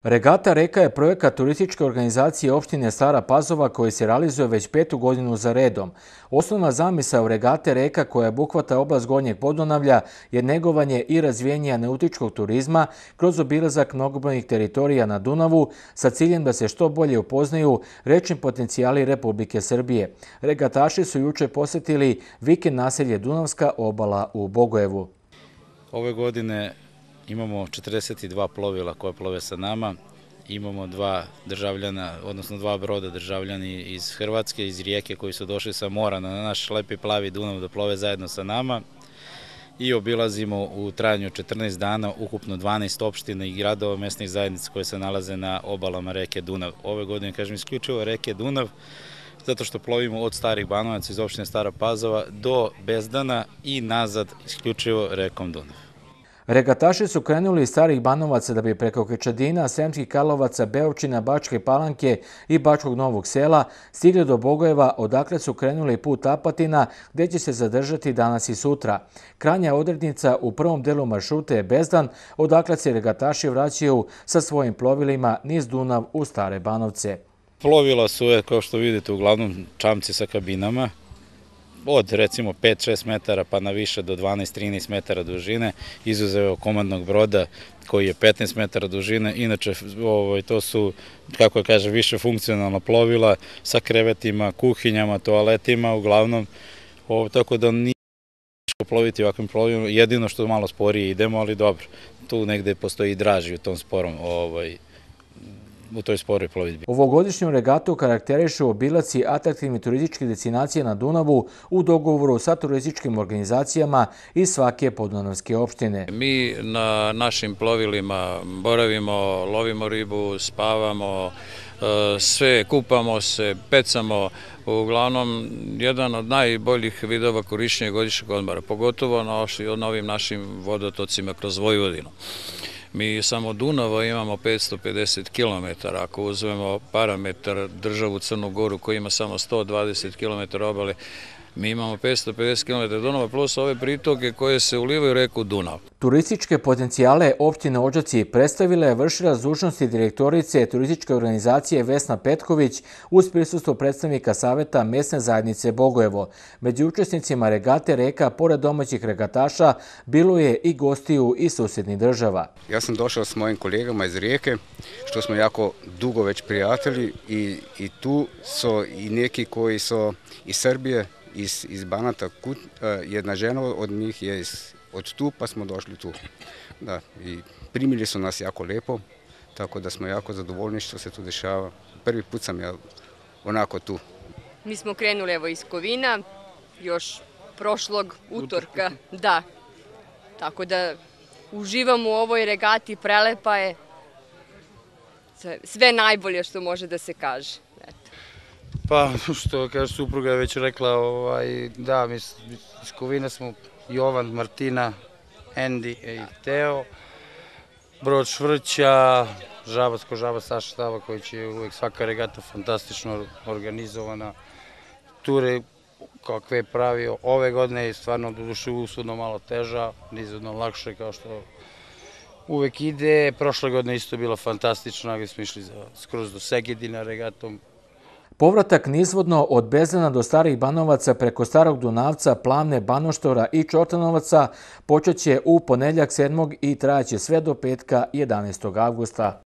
Regata Reka je projekat turističke organizacije opštine Stara Pazova koji se realizuje već 5. godinu za redom. Osnovna zamisao Regate Reka, koja obuhvata oblast Gornjeg Podunavlja, je negovanje i razvijenje nautičkog turizma kroz obilazak mnogobrojnih teritorija na Dunavu sa ciljem da se što bolje upoznaju rečni potencijali Republike Srbije. Regataši su juče posjetili vikend naselje Dunavska obala u Bogojevu. Ove godine imamo 42 plovila koje plove sa nama, imamo dva državljana, odnosno dva broda državljani iz Hrvatske, iz Rijeke koji su došli sa mora na naš lepi plavi Dunav da plove zajedno sa nama i obilazimo u trajanju 14 dana ukupno 12 opština i gradova mesnih zajednica koje se nalaze na obalama reke Dunav. Ove godine, kažem, isključivo reke Dunav, zato što plovimo od Starih Banovaca iz opštine Stara Pazova do Bezdana i nazad isključivo rekom Dunav. Regataši su krenuli iz Starih Banovaca da bi preko Krčadina, Sremskih Karlovaca, Beočina, Bačke Palanke i Bačkog Novog Sela stigli do Bogojeva, odakle su krenuli put Apatina, gde će se zadržati danas i sutra. Krajnja odrednica u prvom delu maršruta je Bezdan, odakle se regataši vraćaju sa svojim plovilima niz Dunav u Stare Banovce. Plovila su, kao što vidite, uglavnom čamci sa kabinama, od recimo 5-6 metara pa na više do 12-13 metara dužine, izuzev komandnog broda koji je 15 metara dužine. Inače, to su, kako je kaže, više funkcionalna plovila sa krevetima, kuhinjama, toaletima, uglavnom, tako da nije teško ploviti ovakvim plovilima, jedino što malo sporije idemo, ali dobro, tu negde postoji draži u tom sporom, u toj sporoj plovidbi. Ovogodišnju regatu karakterišu obilaci atraktivnih turističkih destinacija na Dunavu u dogovoru sa turističkim organizacijama iz svake podunavske opštine. Mi na našim plovilima boravimo, lovimo ribu, spavamo, sve kupamo se, pecamo, uglavnom jedan od najboljih vidova korišćenja godišnjeg odmora, pogotovo na ovim našim vodotocima kroz Vojvodinu. Mi samo Dunava imamo 550 km, ako uzmemo parametar državu Crnu Goru koji ima samo 120 km obale, mi imamo 550 km Dunava plus ove pritoke koje se ulivaju u reku Dunav. Turističke potencijale opštine Odžaci predstavila je vršilac dužnosti direktorice turističke organizacije Vesna Petković uz prisustvo predstavnika Saveta mesne zajednice Bogojevo. Među učesnicima regate Reka, pored domaćih regataša, bilo je i gostiju iz susjednih država. Ja sam došao s mojim kolegama iz Rijeke, što smo jako dugo već prijatelji i tu su i neki koji su iz Srbije, iz Banata, jedna žena od njih je od tu, pa smo došli tu. Da, i primili su nas jako lepo, tako da smo jako zadovoljni što se tu dešava. Prvi put sam ja onako tu. Mi smo krenuli evo iz Kovina, još prošlog utorka, da. Tako da uživamo u ovoj regati, prelepa je, sve najbolje što može da se kaže. Pa, što kaže supruga je već rekla, da, mi iz Kovina smo Jovan, Martina, Endi i Teo, brod Švrća, Žabac ko Žabac, Saša Štava koji će uvijek svaka regata fantastično organizovana. Ture kakve je pravio ove godine je stvarno doduše usudno malo teža, nizvodno lakše kao što uvijek ide. Prošle godine isto bila fantastična, gdje smo išli skroz do Segedina regatom. Povratak nizvodno od Bezdana do Starih Banovaca preko Starog Dunavca, Plavne, Banoštora i Čortanovaca počet će u ponedjeljak 7. i trajaće sve do petka 11. avgusta.